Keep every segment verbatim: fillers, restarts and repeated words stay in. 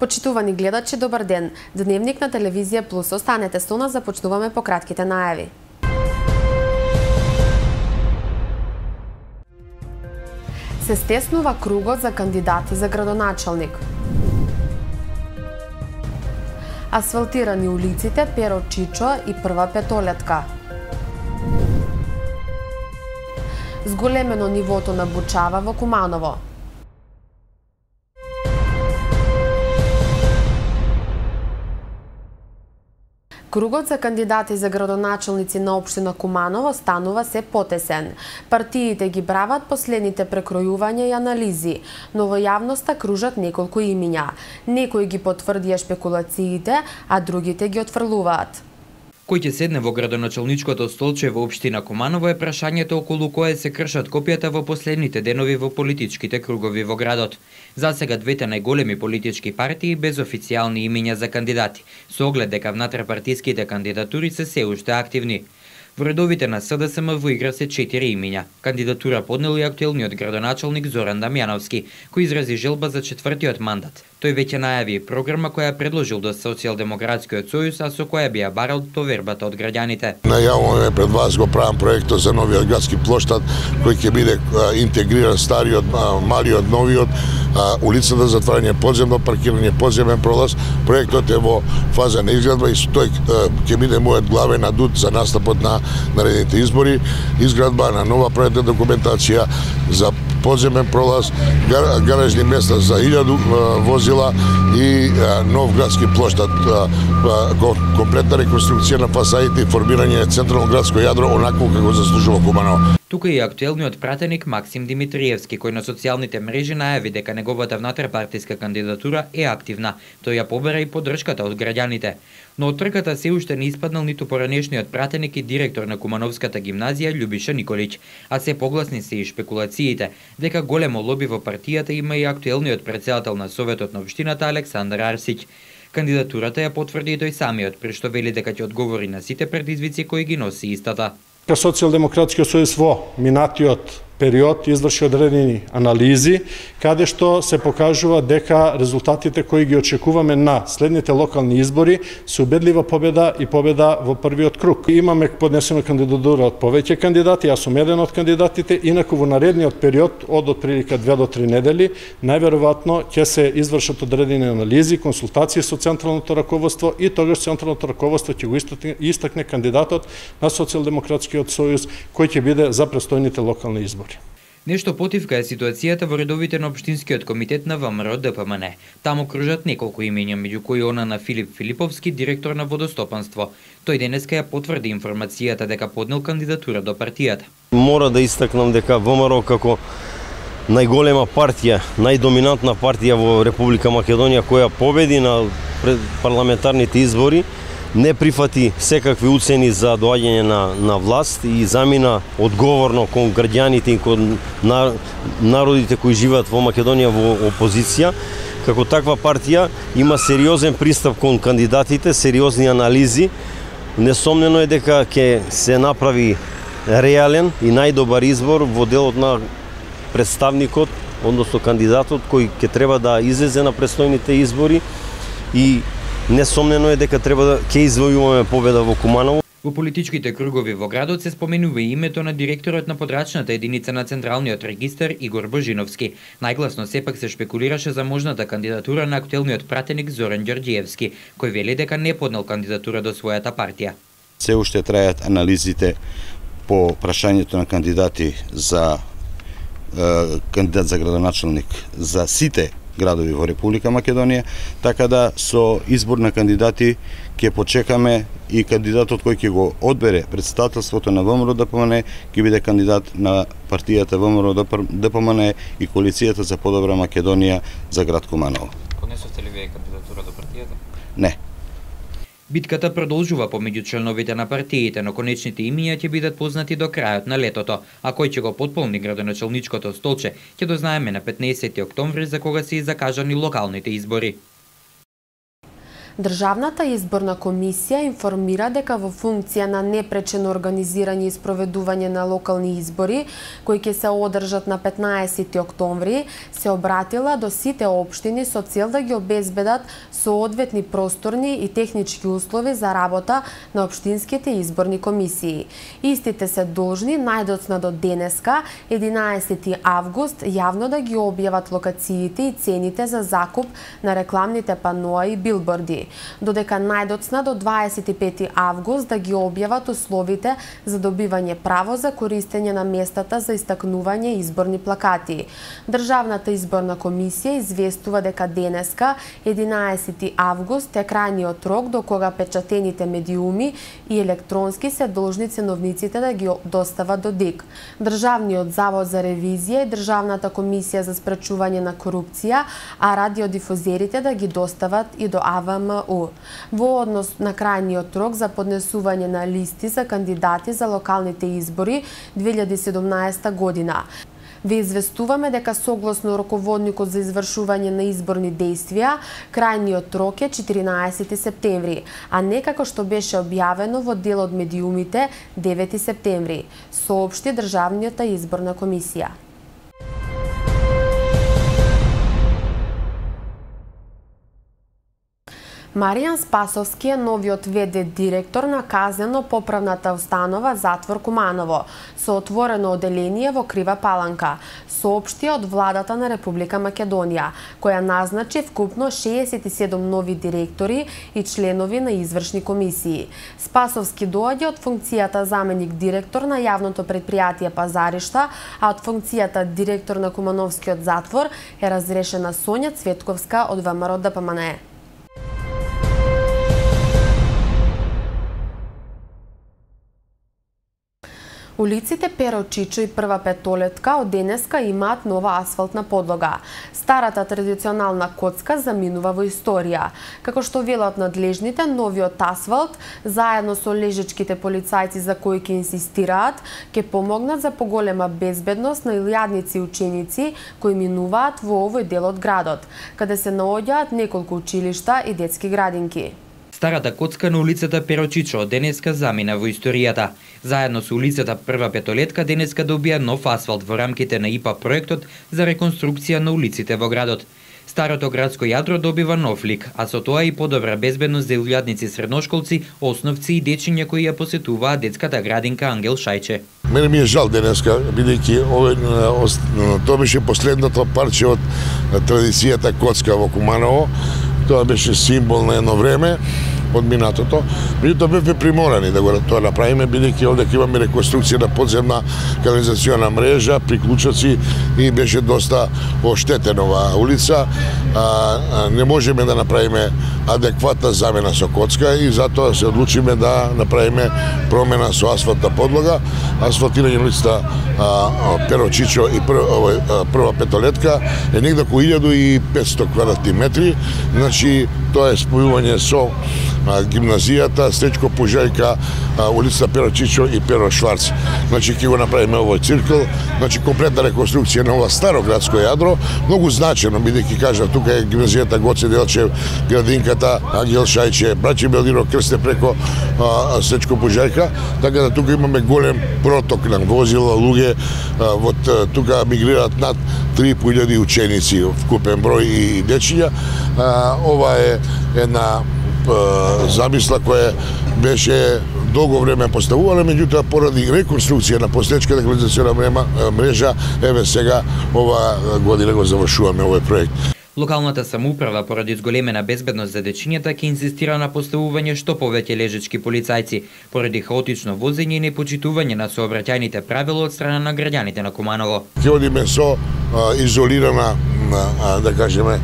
Почитувани гледачи, добар ден. Дневник на Телевизија Плюс. Останете со нас, започнуваме по кратките најави. Се стеснува кругот за кандидати за градоначалник. Асфалтирани улиците Перо Чичо и Прва петолетка. Зголемено нивото на бучава во Куманово. Кругот за кандидати за градоначалници на општина Куманово станува се потесен. Партиите ги прават последните прекројувања и анализи, но во јавноста кружат неколку имиња. Некои ги потврдија шпекулациите, а другите ги отфрлуваат. Кој ќе седне во градоначалничкото столче во општина Куманово е прашањето околу кое се кршат копијата во последните денови во политичките кругови во градот. Засега двете најголеми политички партии без официјални имиња за кандидати, со оглед дека внатрапартиските кандидатури се се уште активни. Во редовите на СДСМ во игра се четири имиња. Кандидатура поднел и актуелниот градоначалник Зоран Дамјановски, кој изрази желба за четвртиот мандат. Тој веќе најави програма која предложил до Социјалдемократскиот сојуз, а со која би ја барал довербата од граѓаните. Најавуваме пред вас го правам проектот за новиот градски плоштад, кој ќе биде интегриран стариот, малиот, новиот, улицата за затварање подземно паркирање, подземен пролаз. Проектот е во фаза на изградба и тој ќе биде мојот главен адут за настапот на наредните избори. Изградба на нова проектна документација за подземен пролаз, гаражни места за илјаду возила и нов градски плоштад, комплетна реконструкција на фасадите и формирање централно градско јадро онакво како заслужува Куманово. Тука и актуелниот пратеник Максим Димитриевски, кој на социјалните мрежи најави дека неговата внатрапартиска кандидатура е активна. Тој ја побера и поддршката од граѓаните. Но од трката се уште не испаднал ниту поранешниот пратеник и директор на Кумановската гимназија Љубиша Николич, а се погласни се и шпекулациите дека големо лоби во партијата има и актуелниот председател на Советот на општината Александар Арсиќ. Кандидатурата ја потврди и тој самиот, при што вели дека ќе одговори на сите предизвици кои ги носи истата. Социјалдемократскиот сојуз во минатиот период изврши одредени анализи, каде што се покажува дека резултатите кои ги очекуваме на следните локални избори се убедлива победа и победа во првиот круг. Имаме поднесена кандидатура од повеќе кандидати, јас сум еден од кандидатите, инаку во наредниот период од отприлика две до три недели, најверојатно ќе се извршат одредени анализи, консултации со централното раководство и тогаш централното раководство ќе го истакне кандидатот на Социјалдемократскиот сојуз кој ќе биде за престојните локални избори. Нешто потивка е ситуацијата во редовите на Општинскиот комитет на ВМРО Д П М Н. Таму кружат неколку имиња, меѓу кои она на Филип Филиповски, директор на водостопанство. Тој денеска ја потврди информацијата дека поднел кандидатура до партијата. Мора да истакнам дека ВМРО како најголема партија, најдоминантна партија во Република Македонија која победи на парламентарните избори, не прифати секакви уцени за доаѓање на, на власт и замина одговорно кон граѓаните и кон народите кои живеат во Македонија во опозиција. Како таква партија има сериозен пристап кон кандидатите, сериозни анализи. Несомнено е дека ќе се направи реален и најдобар избор во делот на представникот, односно кандидатот кој ќе треба да излезе на престојните избори и несомнено е дека треба да ќе извојуваме победа во Куманово. Во политичките кругови во градот се споменува и името на директорот на подрачната единица на Централниот регистар Игор Божиновски. Најгласно сепак се шпекулираше за можната кандидатура на актуелниот пратеник Зоран Ѓорѓиевски, кој вели дека не поднел кандидатура до својата партија. Се уште трајат анализите по прашањето на кандидати за е, кандидат за градоначалник за сите градови во Република Македонија, така да со избор на кандидати ќе почекаме и кандидатот кој ќе го одбере претставителството на ВМРО Д П М Н ќе биде кандидат на партијата ВМРО Д П М Н и коалицијата за подобра Македонија за град Куманово. Поднесовте ли вие кандидатура до партијата? Не. Битката продолжува помеѓу членовите на партиите, но конечните имиња ќе бидат познати до крајот на летото, а кој ќе го потполни градоначалничкото столче ќе дознаеме на петнаесети октомври, за кога се и закажани локалните избори. Државната изборна комисија информира дека во функција на непречено организирање и спроведување на локални избори, кои ќе се одржат на петнаесети октомври, се обратила до сите општини со цел да ги обезбедат соодветни просторни и технички услови за работа на општинските изборни комисии. Истите се должни најдоцна до денеска, единаесети август, јавно да ги објават локациите и цените за закуп на рекламните паноа и билборди, додека најдоцна до дваесет и пети август да ги објават условите за добивање право за користење на местата за истакнување изборни плакати. Државната изборна комисија известува дека денеска, единаесети август, е крајниот рок до кога печатените медиуми и електронски се должни ценовниците да ги достават до ДИК. Државниот завод за ревизија и Државната комисија за спречување на корупција, а радиодифузерите да ги достават и до А В М У. Во однос на крајниот рок за поднесување на листи за кандидати за локалните избори две илјади и седумнаесета година. Ве известуваме дека согласно раководникот за извршување на изборни дејствија, крајниот рок е четиринаесети септември, а не како што беше објавено во дел од медиумите девети септември, соопшти Државната изборна комисија. Маријан Спасовски е новиот В Д директор на казнено-поправната установа Затвор Куманово, со отворено оделение во Крива Паланка, соопшти од владата на Република Македонија, која назначи вкупно шеесет и седум нови директори и членови на извршни комисии. Спасовски доаѓа од функцијата заменик директор на јавното предпријатие Пазаришта, а од функцијата директор на Кумановскиот затвор е разрешена Сонја Цветковска од В М Р Д П М Н Е. Улиците Перо Чичо и Прва Петолетка од денеска имаат нова асфалтна подлога. Старата традиционална коцка заминува во историја. Како што велат надлежните, новиот асфалт, заедно со лежечките полицајци за кои ќе инсистираат, ќе помогнат за поголема безбедност на илјадници ученици кои минуваат во овој дел од градот, каде се наоѓаат неколку училишта и детски градинки. Старата коцка на улицата Перо Чичо од денеска замина во историјата. Заедно со улицата Прва Петолетка денеска добија нов асфалт во рамките на И П А проектот за реконструкција на улиците во градот. Старото градско јадро добива нов лик, а со тоа и подобра безбедност за илјадници средношколци, основци и дечиња кои ја посетуваат детската градинка Ангел Шајче. Мене ми е жал денеска, бидејќи овој тоа беше последното парче од традицијата коцка во Куманово. Тоа беше символ на едно време од минатото. Меѓутоа бевме приморани да го тоа направиме, бидејќи овде имаме реконструкција на подземна канализациона мрежа, приклучоци и беше доста оштетена оваа улица. А, а, не можеме да направиме адекватна замена со коцка и затоа се одлучиме да направиме промена со асфалтна подлога. Асфалтирање на улицата Перо Чичо и Прва, Прва Петолетка е негде околу илјада и петстотини квадратни метри. Значи, тоа е спојување со гимназијата, Стечко Пужајка, улица Перо Чичо и Перо Шварц. Значи, ќе го направиме овој циркл. Значи, комплетна реконструкција на ова старо градско јадро, многу значено, бидејќи кажа, тука е гимназијата Гоце Делчев, градинката Ангел Шајче, Браќи Белдиро Крсте преко а, Стечко Пужајка, така да тука имаме голем проток на возила, луѓе, а, вот тука мигрираат над три и по илјади ученици, вкупен број и дечиња. А, ова е една замисла која беше долго време поставувала, меѓутоа поради реконструкција на постоечката канализациона мрежа, еве сега ова година го завршуваме овој проект. Локалната самоуправа поради зголемена безбедност за дечињата ќе инсистира на поставување што повеќе лежечки полицајци, поради хаотично возење и непочитување на сообраќајните правила од страна на граѓаните на Куманово. Ќе одиме со а, изолирана, а, да кажеме,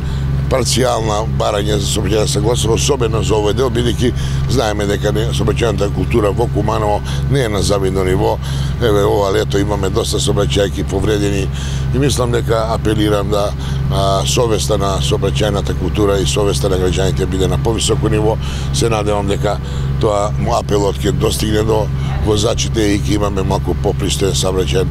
парцијална барање за сообраќајна согласност, особено за овој дел, бидејќи знаеме дека сообраќајната култура во Куманово не е на завидно ниво. Еве, ова лето имаме доста сообраќајки повредени и мислам дека апелирам да а, совеста на сообраќајната култура и совеста на граѓаните биде на повисоко ниво. Се надевам дека тоа апелот ќе достигне до возачите и ќе имаме малку попристоен сообраќај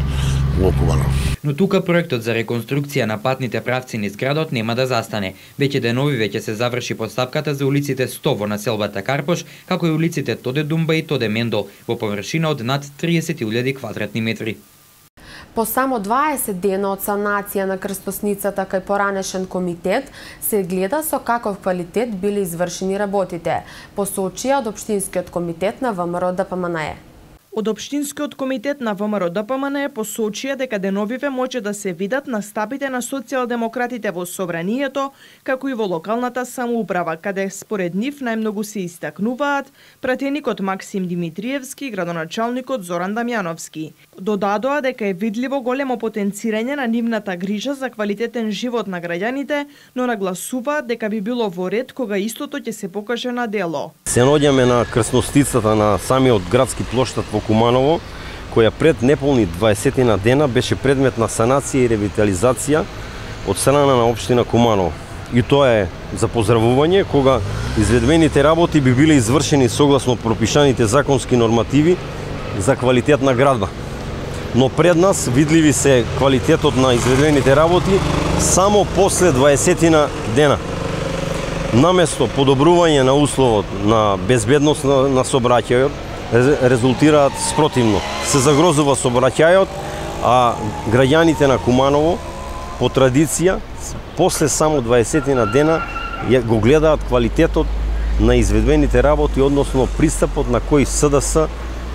во Куманово. Но тука проектот за реконструкција на патните правци низ градот нема да застане. Веќе денови веќе се заврши постапката за улиците сто во населбата Карпош, како и улиците Тоде Думба и Тоде Мендол, во површина од над триесет илјади квадратни метри. По само дваесет дена од санација на крстосницата кај поранешен комитет, се гледа со каков квалитет биле извршени работите, посочија од Општинскиот комитет на ВМРО Д П М Н Е. Од Општинскиот комитет на ВМРО Д П М Н Е посочија дека деновиве може да се видат настапите на социјалдемократите во собранието, како и во локалната самоуправа, каде според нив најмногу се истакнуваат пратеникот Максим Димитриевски и градоначалникот Зоран Дамјановски. Додадоа дека е видливо големо потенцирање на нивната грижа за квалитетен живот на граѓаните, но нагласуваат дека би било во ред кога истото ќе се покаже на дело. Се наоѓаме на крстостицата на самиот градски плоштад во Куманово, која пред неполни дваесет дена беше предмет на санација и ревитализација од страна на општина Куманово. И тоа е за поздравување кога изведените работи би биле извршени согласно пропишаните законски нормативи за квалитетна градба. Но пред нас видливи се квалитетот на изведените работи само после дваесет дена. Наместо подобрување на условот на безбедност на, на сообраќајот, резултираат спротивно. Се загрозува сообраќајот, а граѓаните на Куманово по традиција после само дваесет дена го гледаат квалитетот на изведените работи, односно пристапот на кој С Д С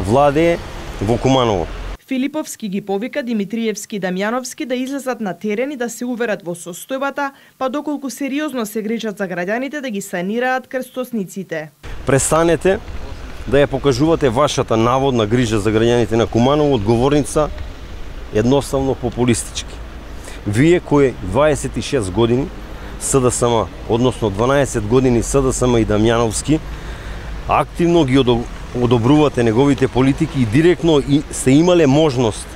владее во Куманово. Филиповски ги повика Димитриевски и Дамјановски да излезат на терен и да се уверат во состојбата, па доколку сериозно се грижат за граѓаните да ги санираат крстосниците. Престанете да ја покажувате вашата наводна грижа за граѓаните на Куманово од говорница едноставно популистички. Вие кои дваесет и шест години С Д С М, односно дванаесет години С Д С М и Дамјановски, активно ги одобрувате неговите политики и директно и сте имале можност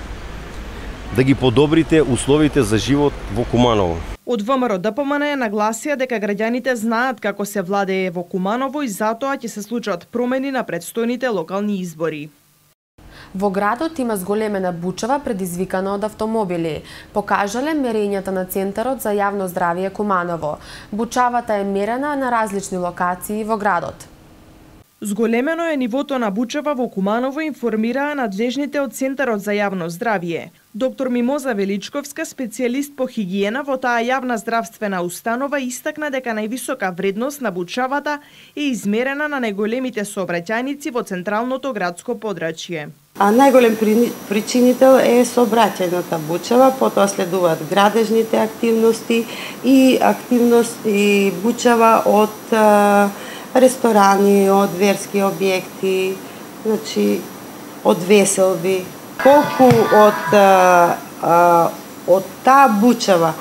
да ги подобрите условите за живот во Куманово. Од ВМРО Д П М Н Е нагласија дека граѓаните знаат како се владее во Куманово и затоа ќе се случат промени на предстојните локални избори. Во градот има зголемена бучава предизвикана од автомобили, покажале мерењата на Центарот за јавно здравје Куманово. Бучавата е мерена на различни локации во градот. Зголемено е нивото на бучава во Куманово, информираа надлежните од Центарот за јавно здравје. Доктор Мимоза Величковска, специјалист по хигиена во таа јавна здравствена установа, истакна дека највисока вредност на бучавата е измерена на најголемите сообраќајници во централното градско подрачје. А најголем причинител е сообраќајната бучава, потоа следуваат градежните активности и активности бучава од ресторани, од верски објекти, значи од веселби. Колку од а, од таа бучава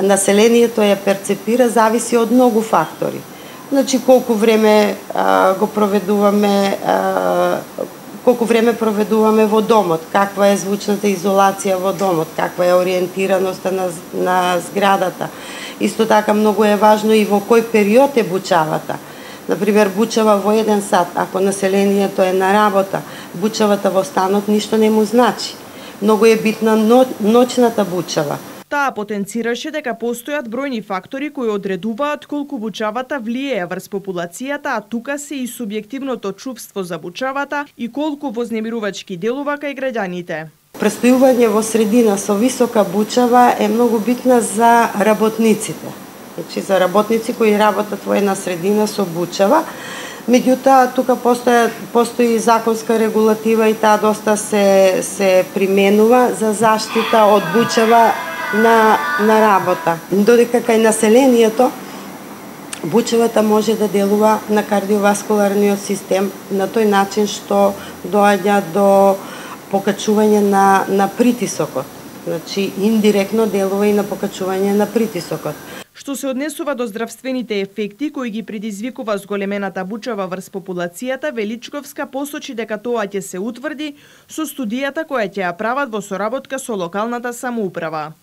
населението ја перцепира зависи од многу фактори. Значи колку време а, го проведуваме а, колку време проведуваме во домот, каква е звучната изолација во домот, каква е ориентираноста на, на зградата. Исто така многу е важно и во кој период е бучавата. Например, бучава во еден сат, ако населението е на работа, бучавата во станот ништо не му значи. Многу е битна ноќната бучава. Таа потенцираше дека постојат бројни фактори кои одредуваат колку бучавата влијае врз популацијата, а тука се и субјективното чувство за бучавата и колку вознемирувачки делува кај граѓаните. Престојување во средина со висока бучава е многу битна за работниците. Значи за работници кои работат во една средина со бучава. Меѓутоа, тука постои, постои законска регулатива и таа доста се, се применува за заштита од бучава на, на работа. Додека кај населението, бучавата може да делува на кардиоваскуларниот систем на тој начин што доаѓа до покачување на, на притисокот. Значи, индиректно делува и на покачување на притисокот. Што се однесува до здравствените ефекти кои ги предизвикува зголемената бучава врз популацијата, Величковска посочи дека тоа ќе се утврди со студијата која ќе ја прават во соработка со локалната самоуправа.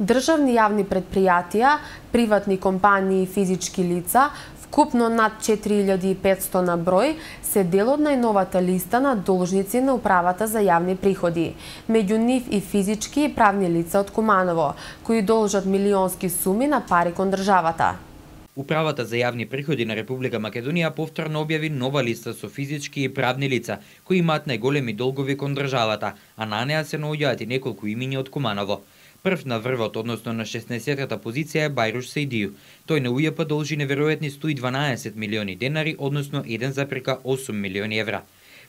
Државни јавни предпријатија, приватни компании и физички лица Вкупно над четири илјади и петсто на број се дел од најновата листа на должници на Управата за јавни приходи. Меѓу нив и физички и правни лица од Куманово, кои должат милионски суми на пари кон државата. Управата за јавни приходи на Република Македонија повторно објави нова листа со физички и правни лица кои имаат најголеми долгови кон државата, а на неа се наоѓаат и неколку имиња од Куманово. Прв на врвот, односно на шеснаесеттата позиција е Бајруш Саидију. Тој на УЈП должи неверојатни сто и дванаесет милиони денари, односно еден запирка осум милиони евра.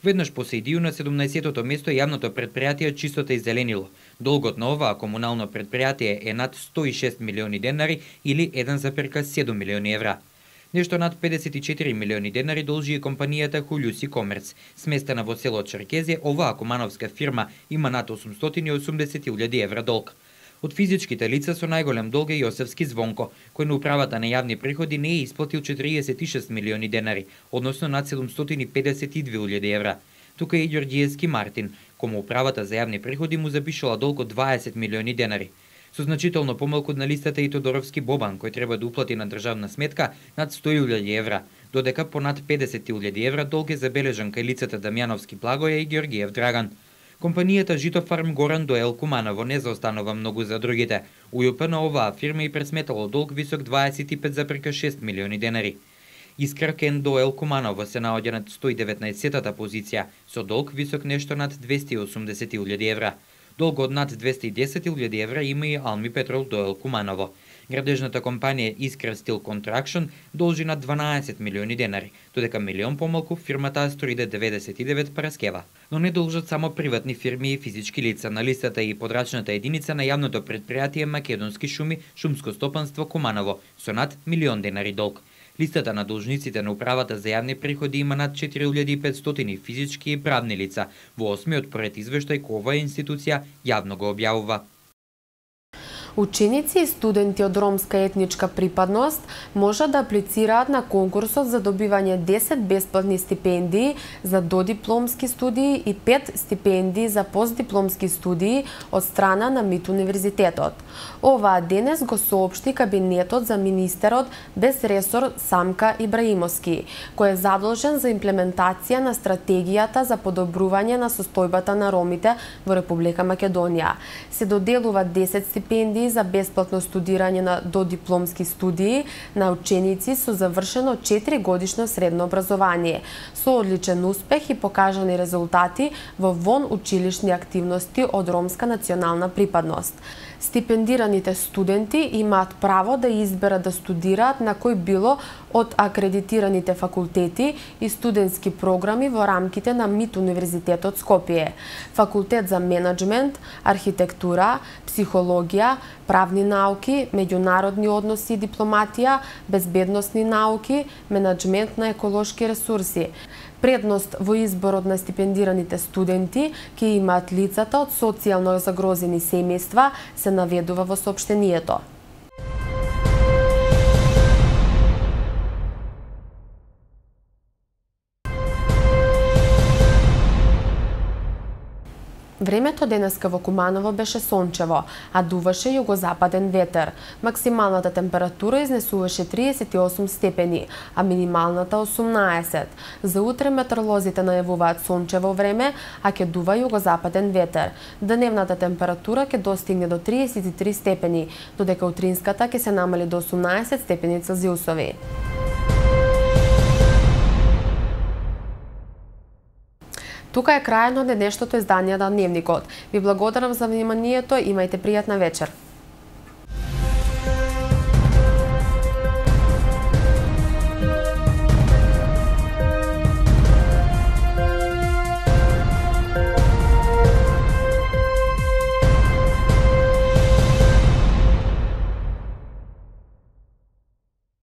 Веднаш по Саидију на седумнаесеттото место јавното предпријатие Чистота и зеленило. Долгот на оваа комунално предпријатие е над сто и шест милиони денари или еден запирка седум милиони евра. Нешто над педесет и четири милиони денари должи и компанијата Хулјуси Комерц. Сместена во село Черкезија, оваа кумановска фирма има над осумстотини и осумдесет илјади евра долг. Од физичките лица со најголем долг е Јосевски Звонко, кој на Управата на јавни приходи не е исплатил четириесет и шест милиони денари, односно над седумстотини и педесет и две илјади евра. Тука е и Ѓорѓиевски Мартин, кому Управата за јавни приходи му запишала долг од дваесет милиони денари. Со значително помалку на листата и Тодоровски Бобан, кој треба да уплати на државна сметка над сто илјади евра, додека по над педесет илјади евра долг е забележан кај лицата Дамјановски Благоја и Ѓорѓиев Драган. Компанијата Житофарм Горан Доел Куманово не заостанува многу за другите. УЈП на оваа фирма и пресметало долг висок дваесет и пет запирка шест милиони денари. Искра Кен Доел Куманово се наоѓа над сто и деветнаесеттата позиција, со долг висок нешто над двесте и осумдесет илјади евра. Долг од над двесте и десет илјади евра има и Алми Петрол Доел Куманово. Градежната компанија Искра Стил Контракшн должи над дванаесет милиони денари, додека милион помалку фирмата Астроиде деветдесет и девет Параскева. Но не должат само приватни фирми и физички лица. На листата и подрачната единица на јавното предпријатие Македонски шуми, шумско стопанство Куманово, со над милион денари долг. Листата на должниците на Управата за јавни приходи има над четири илјади и петстотини физички и правни лица. Во осмиот поред извештај кој оваа институција јавно го објавува. Ученици и студенти од ромска етничка припадност можат да аплицираат на конкурсот за добивање десет бесплатни стипендии за додипломски студии и пет стипендии за постдипломски студии од страна на МИТ Универзитетот. Оваа денес го соопшти кабинетот за министерот без ресор Самка Ибраимовски, кој е задолжен за имплементација на стратегијата за подобрување на состојбата на ромите во Република Македонија. Се доделуваат десет стипендии за бесплатно студирање на додипломски студии на ученици со завршено четири годишно средно образование, со одличен успех и покажани резултати во вон училишни активности од ромска национална припадност. Стипендираните студенти имаат право да изберат да студираат на кој било од акредитираните факултети и студентски програми во рамките на МИТ Универзитетот Скопје, факултет за менаџмент, архитектура, психологија, правни науки, меѓународни односи и дипломатија, безбедносни науки, менаџмент на еколошки ресурси. Предност во изборот на стипендираните студенти ќе имаат лицата од социјално загрозени семејства, се наведува во соопштението. Времето денеска во Куманово беше сончево, а дуваше југозападен ветер. Максималната температура изнесуваше триесет и осум степени, а минималната осумнаесет. За утре метеоролозите најавуваат сончево време, а ќе дува југозападен ветер. Дневната температура ќе достигне до триесет и три степени, додека утринската ќе се намали до осумнаесет степени Целзиусови. Тука е крајот на денешното издание на Дневникот. Ви благодарам за вниманието, имајте пријатна вечер.